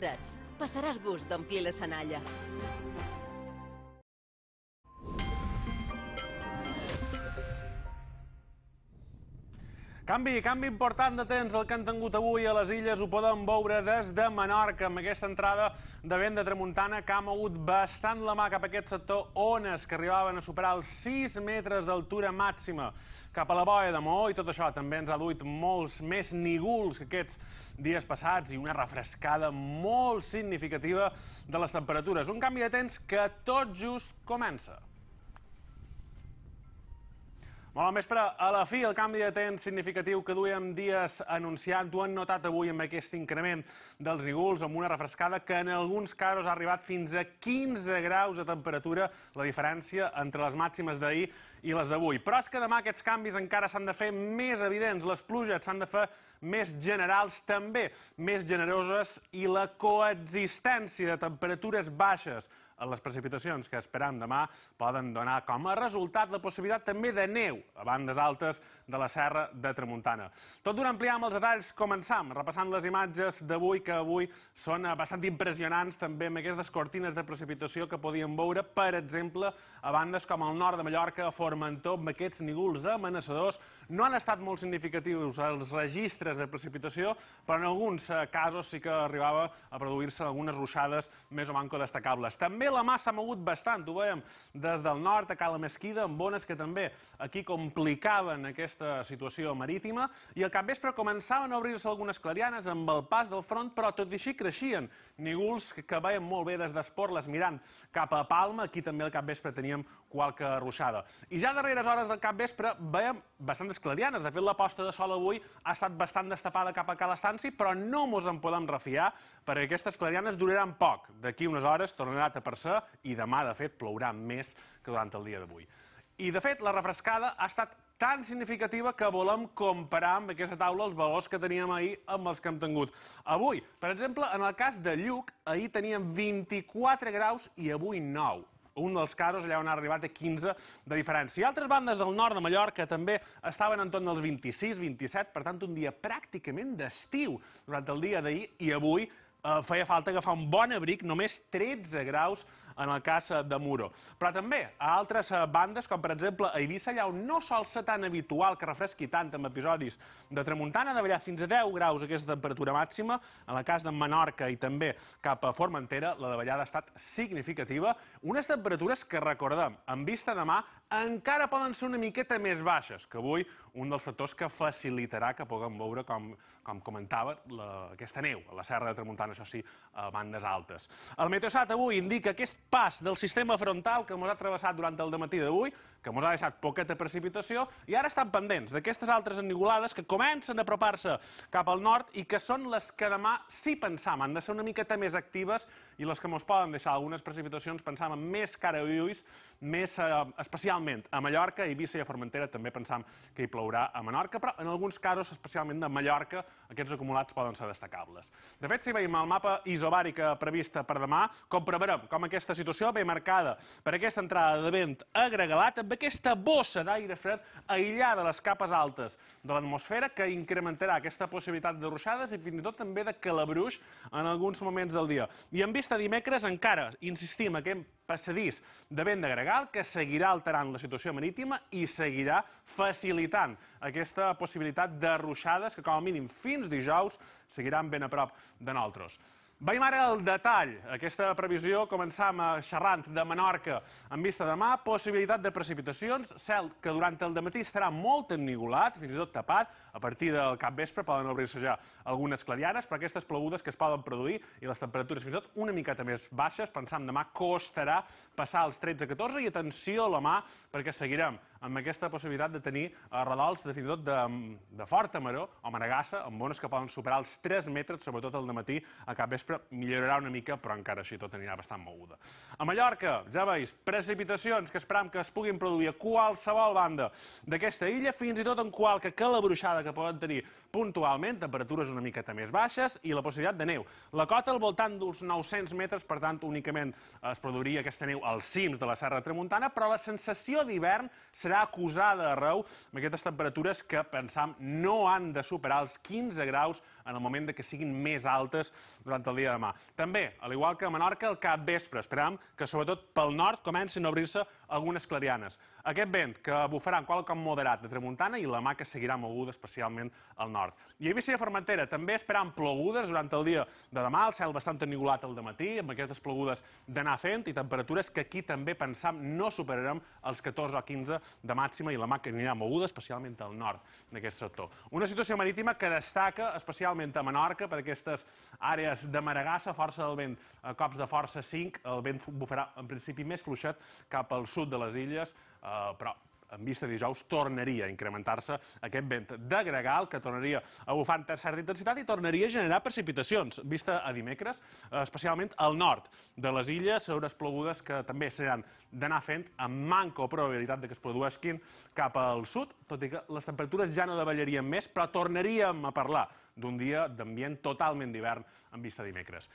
freds. Passaràs gust d'omplir la senalla. Canvi important de temps el que han tingut avui a les illes, ho podem veure des de Menorca, amb aquesta entrada de vent de tramuntana que ha mogut bastant la mà cap a aquest sector, ones que arribaven a superar els 6 metres d'altura màxima cap a la boia de Maó, i tot això també ens ha duit molts més nígols que aquests dies passats i una refrescada molt significativa de les temperatures. Un canvi de temps que tot just comença. Molt bon vespre. A la fi, el canvi de temps significatiu que duíem dies anunciant ho han notat avui amb aquest increment dels nígols, amb una refrescada que en alguns casos ha arribat fins a 15 graus de temperatura, la diferència entre les màximes d'ahir i les d'avui. Però és que demà aquests canvis encara s'han de fer més evidents, les pluges s'han de fer més generals, també més generoses, i la coexistència de temperatures baixes en les precipitacions que esperam demà poden donar com a resultat la possibilitat també de neu a bandes altes de la Serra de Tramuntana. Tot d'una ampliar amb els detalls, començam repassant les imatges d'avui, que avui són bastant impressionants, també amb aquestes cortines de precipitació que podíem veure, per exemple, a bandes com el nord de Mallorca, a Formentor, amb aquests nígols amenaçadors. No han estat molt significatius els registres de precipitació, però en alguns casos sí que arribava a produir-se algunes ruixades més o manco destacables. També la mà s'ha mogut bastant, ho veiem des del nord a Cala Mesquida, amb ones que també aquí complicaven aquesta situació marítima, i al capvespre començaven a obrir-se algunes clarianes amb el pas del front, però tot i així creixien nígols que veiem molt bé des d'Esporles mirant cap a Palma. Aquí també al capvespre teníem qualque ruixada. I ja a darreres hores del capvespre veiem bastantes clarianes. De fet, la posta de sol avui ha estat bastant destapada cap a Cala Estanci, però no mos en podem refiar, perquè aquestes clarianes duraran poc. D'aquí unes hores tornarà a tapar-se i demà, de fet, plourà més que durant el dia d'avui. I, de fet, la refrescada ha estat tan significativa que volem comparar amb aquesta taula els valors que teníem ahir amb els que hem tingut avui. Per exemple, en el cas de Lluc, ahir teníem 24 graus i avui 9. Un dels casos allà on ha arribat a 15 de diferència. I altres bandes del nord de Mallorca també estaven entorn dels 26, 27, per tant un dia pràcticament d'estiu durant el dia d'ahir, i avui feia falta agafar un bon abric, només 13 graus en el cas de Muro. Però també a altres bandes, com per exemple a Eivissa, allà on no sol ser tan habitual que refresqui tant amb episodis de tramuntana, de ballar fins a 10 graus aquesta temperatura màxima. En el cas de Menorca i també cap a Formentera, la davallada ha estat significativa. Unes temperatures que, recordem, en vista demà, encara poden ser una miqueta més baixes, que avui un dels factors que facilitarà que puguem veure, com comentava, aquesta neu a la Serra de Tramuntana, això sí, a bandes altes. El Meteosat avui indica aquest pas del sistema frontal que ens ha travessat durant el dematí d'avui, que ens ha deixat poqueta precipitació, i ara estan pendents d'aquestes altres ennigolades que comencen a apropar-se cap al nord i que són les que demà, sí pensam, han de ser una miqueta més actives, i les que ens poden deixar algunes precipitacions, pensam, amb més cara i ulls, més especialment a Mallorca, a Eivissa i a Formentera també pensam que hi plourà a Menorca, però en alguns casos, especialment de Mallorca, aquests acumulats poden ser destacables. De fet, si veiem el mapa isobàrica prevista per demà, comprovarem com aquesta situació ve marcada per aquesta entrada de vent agregalat, amb aquesta bossa d'aire fred aïllada de les capes altes de l'atmosfera, que incrementarà aquesta possibilitat de ruixades i fins i tot també de calabruix en alguns moments del dia. I en vista dimecres encara insistim aquest passadís de vent de gregal que seguirà alterant la situació marítima i seguirà facilitant aquesta possibilitat de ruixades que com a mínim fins dijous seguiran ben a prop de nosaltres. Veiem ara el detall. Aquesta previsió començam xerrant de Menorca en vista demà, possibilitat de precipitacions, cel que durant el dematí estarà molt ennigolat, fins i tot tapat, a partir del capvespre poden obrir-se ja algunes clarianes, però aquestes plogudes que es poden produir i les temperatures fins i tot una miqueta més baixes, pensam demà costarà passar els 13-14, i atenció a la mà, perquè seguirem amb aquesta possibilitat de tenir radols fins i tot de forta maror o maregassa, amb ones que poden superar els 3 metres, sobretot al dematí, a capvespre millorarà una mica, però encara així tot anirà bastant moguda. A Mallorca, ja veus, precipitacions que esperam que es puguin produir a qualsevol banda d'aquesta illa, fins i tot en qualque calabruixada que poden tenir puntualment, temperatures una miqueta més baixes i la possibilitat de neu. La cota al voltant d'uns 900 metres, per tant, únicament es produiria aquesta neu als cims de la Serra de Tramuntana, però la sensació d'hivern serà acusada arreu amb aquestes temperatures que, pensam, no han de superar els 15 graus en el moment de que siguin més altes durant el dia de demà. També, al igual que a Menorca, al capvespre esperam que sobretot pel nord comencin a obrir-se algunes clarianes. Aquest vent que bufarà en qualsevol moderat de tramuntana i la mà que seguirà moguda especialment al nord. I a Eivissa i a Formentera també esperam plogudes durant el dia de demà, el cel bastant ennuvolat al dematí, amb aquestes plogudes d'anar fent i temperatures que aquí també pensam no superarem els 14 o 15 de màxima i la mà que anirà moguda especialment al nord d'aquest sector. Una situació marítima que destaca especialment a Menorca per aquestes àrees de maregassa, força del vent a cops de força 5, el vent bufarà en principi més fluixet cap al sud de les illes, però en vista de dijous tornaria a incrementar-se aquest vent de gregal que tornaria a bufar amb certa intensitat i tornaria a generar precipitacions, vista a dimecres, especialment al nord de les illes, unes plogudes que també seran d'anar fent amb manca o probabilitat que es produeixin cap al sud, tot i que les temperatures ja no davallarien més, però tornaríem a parlar d'un dia d'ambient totalment d'hivern en vista a dimecres.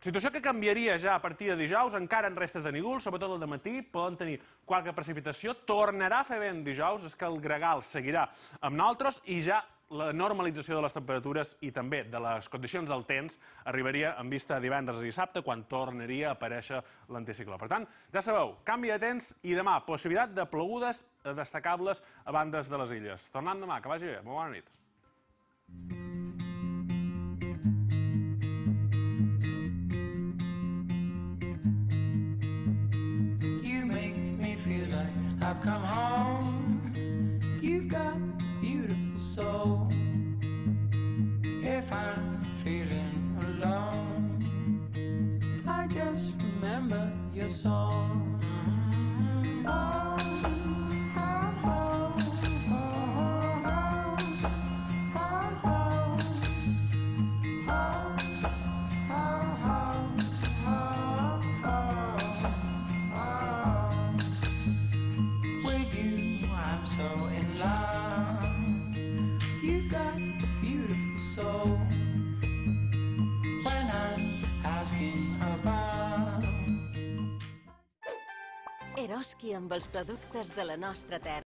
Situació que canviaria ja a partir de dijous, encara en restes de núvols, sobretot al dematí, poden tenir qualque precipitació, tornarà a fer vent dijous, és que el gregal seguirà amb nosaltres i ja la normalització de les temperatures i també de les condicions del temps arribaria en vista de divendres i dissabte, quan tornaria a aparèixer l'anticicló. Per tant, ja sabeu, canvi de temps i demà, possibilitat de plogudes destacables a bandes de les illes. Tornant demà, que vagi bé, molt bona nit. I've come home, you've got a beautiful soul. If I'm feeling alone, I just remember your song. Eroski amb els productes de la nostra terra.